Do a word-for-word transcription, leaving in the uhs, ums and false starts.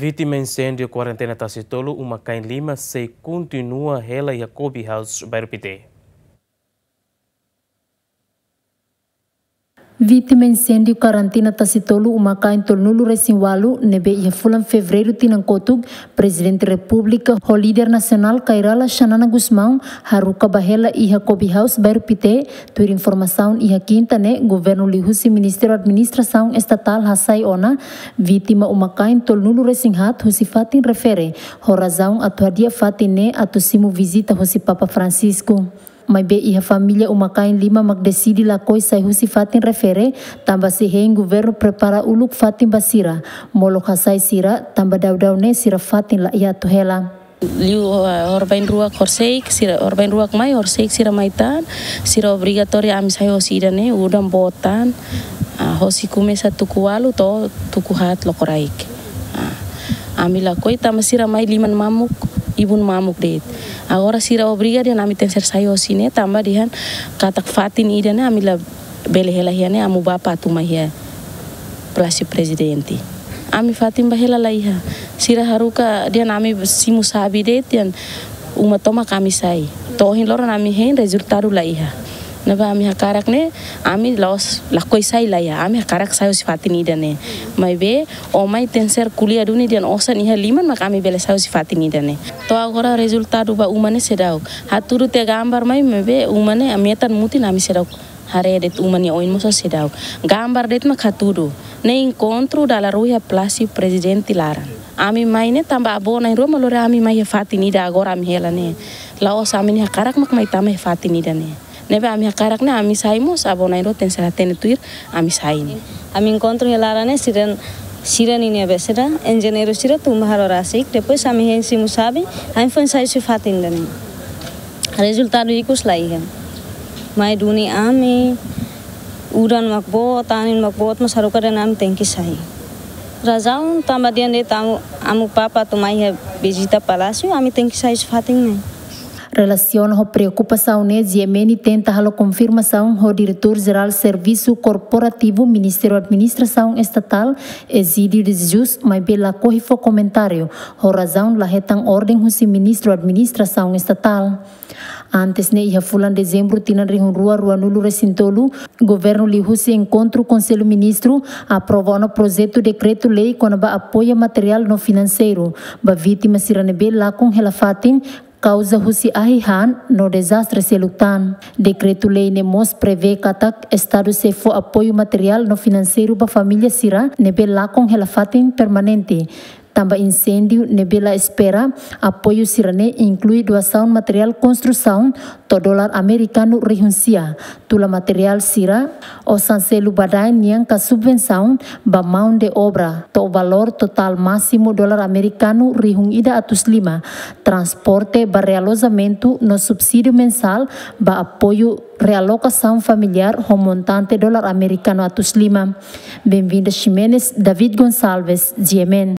Vítima inséndiu kuarentena Tasitolu, uma-kain lima sei kontinua hela iha Kobe House, bairru Pité. Vítima inséndiu kuarentena Tasitolu, uma-kain tolunulu-resin-ualu, ne'ebé iha fulan Fevereiru tinan kotuk, Prezidente Repúblika ho líder nasionál Kay Rala Xanana Gusmão, haruka ba hela iha Kobe House, bairru Pité, tuir informasaun iha Kinta ne'e, governu liuhusi Ministériu Administrasaun Estatál hasai ona, vítima uma-kain tolunulu-resin-haat husi fatin refere, ho razaun atu hadi'a fatin ne'e atu simu vizita husi Papa Francisco. Maibé iha família uma-kain lima mak deside lakohi sai husi fatin refere, tanba sei hein governu prepara uluk fatin ba sira, molok hasai sira, tanba daudaun ne'e sira fatin la iha atu hela. Liu, eh, horibainrua horisehik, sira horibainrua mai, horisehik sira mai tan, sira obrigatóriu ami sai hosi ida-ne'e, udan boot tan, ah, hosi komesa tuku ualu to'o tuku haat lokraik. Ah, ami lakohi tanba sira mai liman mamuk, ibun mamuk de'it. Agora sira obriga dehan ami tenkesér sai hosi ne'e tanba dehan katak fatin ida-ne'e ami labele hela iha ne'e, amu bapa atu mai iha Palásiu Prezidente. Ami fatin ba hela la iha. Sira haruka dehan ami simu xave de'it dehan uma tomak ami sai. To'o ohin loron ami hein rezultadu la iha. Ne'ebé ami hakarak ne'e, ami la'ós lakohi sai la iha. Ami hakarak sai hosi fatin ida-ne'e. Maibé, ó mai tenkesér ko'alia duni dehan osan iha liman mak ami bele sai hosi fatin ida-ne'e. To'o agora rezultadu ba uma ne'e seidauk. Hatudu tiha gambar mai, maibé uma ne'e ami metan mutin ami seidauk haree de'it uma nia oin mós seidauk. Gambar de'it mak hatudu. Ne'e enkontru dala rua iha Palásiu Prezidente laran. Ami mai ne'e tanba avó na'in-rua mak lori ami mai iha fatin ida agora ami hela ne'e. La'ós ami-nia hakarak mak mai tama iha fatin ida-ne'e. Ne'ebé ami hakarak ne'e ami sai mós, avó na'in-rua tenkesér hatene tuir ami sai ne'e. Ami enkontru iha laran ne'e sira, sira ninia be sira, enjeñeiru sira tun ba halo rasik, depois ami hein simu xave, ami foin sai husi fatin ida-ne'e. Rezultadu ikus la iha. Mai duni ami, udan mak boot, anin mak boot, mas haruka dehan ami tenke sai. Razaun tanba dehan de'it amu, amu papa atu mai iha vizita palásiu, ami tenke sai husi fatin ne'e. Relasiona ho preokupasaun ne'e, G M N tenta halo konfirmasaun ho Diretór Jerál Servisu Korporativu Ministériu Administrasaun Estatál, Egídio de Jesus, maibé lakohi fó komentáriu, ho razaun la hetan orden husi Ministru Administrasaun Estatál. Antes ne'e, iha fulan Dezembru tinan rihun rua ruanulu-resin-tolu, governu liuhusi enkontru Konsellu Ministru aprova ona projetu dekretu-lei kona-ba apoiu materiál no finanseiru ba vítima sira ne'ebé lakon hela fatin kauza husi ahi han no dezastre seluk tan. Dekretu-lei ne'e mós prevee katak Estadu sei fó apoiu materiál no finanseiru ba família sira ne'ebé lakon hela fatin permanente. Tanba inséndiu ne'ebé la espera, apoiu sira-ne'e inklui doasaun materiál konstrusaun to'o dolar amerikanu rihun sia, tula materiál sira, osan selu badaen nian ka subvensaun ba maun de obra, to'o valór totál másimu dolar amerikanu rihun ida atus lima, transporte ba realojamentu no subsídiu mensál ba apoiu realokasaun familiár ho montante dolar amerikanu atus lima. Benvinda Ximenes, David Gonçalves, G M N.